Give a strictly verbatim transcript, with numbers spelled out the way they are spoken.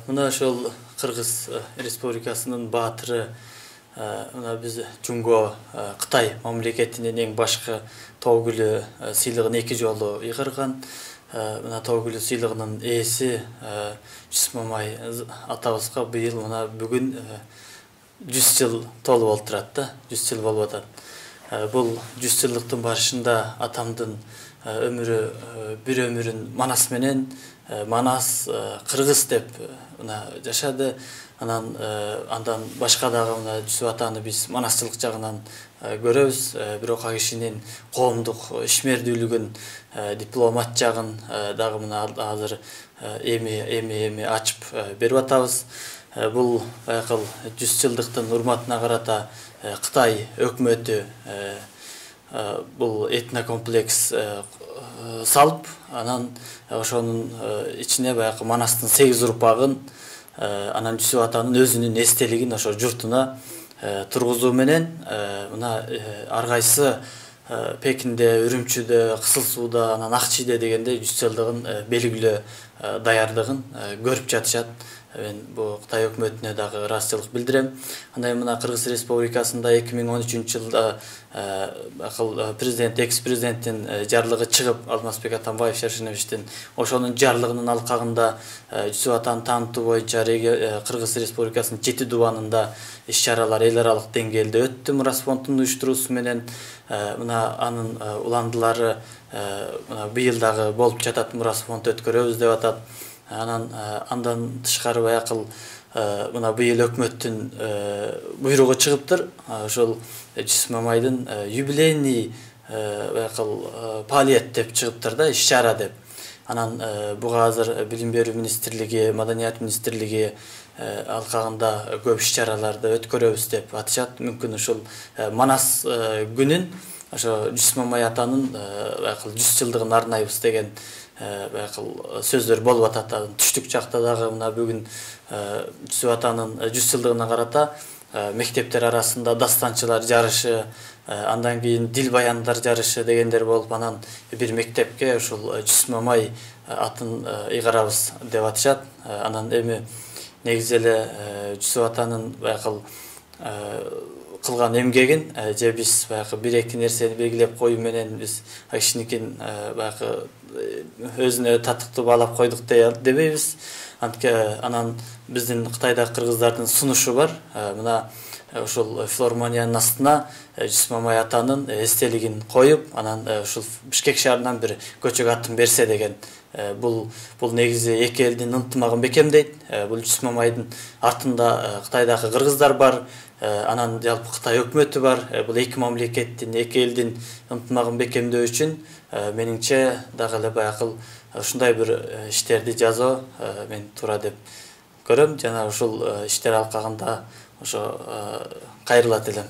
Мына ошол Кыргыз Республикасынын баатыры мына биз Жунго Кытай мамлекетинин эң башкы тогүлү сыйлыгын эки жолу ыйгарган. Мына тогүлү сыйлыгынын ээси Жүсүп Мамай атабызга быйыл мына бүгүн жүз жыл толуп болуп турат да, жүз жыл болуп атат. Бул жүз жылдыктын башында атамдын өмүрү бир өмүрүн Манас менен Манас Кыргыз деп мына жашады. Анан андан башка дагы мына Жүсүп атаны биз манасчылык жагынан көрөбүз. Бирок ал кишинин коомдук ишмердүүлүгүн, дипломат жагын дагы мына азыр эми эми эми ачып берип атабыз. Бул байкал жүз жылдыктын урматына карата Кытай өкмөтү бул этнокомплекс салып, анан ошонун ичине баягы Манастын сегиз урпагын, анан Жүсүп атанын өзүнүн эстелигин ошо журтуна тургузуу менен мына ар кайсы Пекинде, Үрүмчүдө, Кызыл Сууда, анан Ак Чийде дегенде жүз жылдыгын белгилөө даярдыгын көрүп жатышат. Мен бул Кытай өкмөтүнө дагы ыраазычылык билдирем. Андай мына Кыргыз Республикасында эки миң он үчүнчү жылда президент, экс-президенттин жарлыгы чыгып, Алмазбек Атамбаев Шаршеновичтин ошонун жарлыгынын алкагында Жүсүп атаны таанытуу боюнча Кыргыз Республикасынын жети дубанында иш-чаралар эл аралык деңгээлде өттү. Мурас фондунун уюштуруусу менен мына анын уландылары мына быйыл дагы болуп жатат, Мурас фонд өткөрөбүз деп атат. Анан андан тышкары баякыл мына быйыл өкмөттүн буйругу чыгыптыр. Ошол Жүсүп Мамайдын юбилейный баякыл фаалиет деп чыгыптыр да, иш-чара деп. Анан буга азыр Билим берүү министрлиги, Маданият министрлиги алкагында көп иш-чараларды өткөрөбүз деп атышат. Мүмкүн ушул Манас күнүн ошо Жүсүп Мамай атанын баякыл жүз жылдыгын арнайбыз деген баякыл сөздөр болуп атат. Түштүк жакта дагы мына бүгүн Жүсүп атанын жүз жылдыгына карата мектептер арасында дастанчылар жарышы, андан кийин дил баяндар жарышы дегендер болуп, анан бир мектепке ушул Жүсүп Мамай атын ыйгарабыз деп атышат. Анан эми негизи эле Жүсүп атанын баякыл кылган эмгегин же биз баягы бир-эки нерсени белгилеп коюу менен биз ал кишиникин баягы өзүнө татыктуу баалап койдук дебейбиз. Анан биздин Кытайдагы кыргыздардын сунушу бар. Мына ушул филармониянын астына Жүсүп Мамай атанын эстелигин коюп, анан ушул Бишкек шаарынан бир көчөк атын берсе деген. Бул бул негизи эки элдин ынтымагын бекемдейт. Бул Жүсүп Мамайдын артында Кытайдагы кыргыздар бар, анан жалпы Кытай өкмөтү бар. Бул эки мамлекеттин, эки элдин ынтымагын бекемдөө үчүн менимче дагы эле баякыл ушундай бир иштерди жасоо мен туура деп көрөм. Жана ушул иштер алкагында ошо кайрылат элем.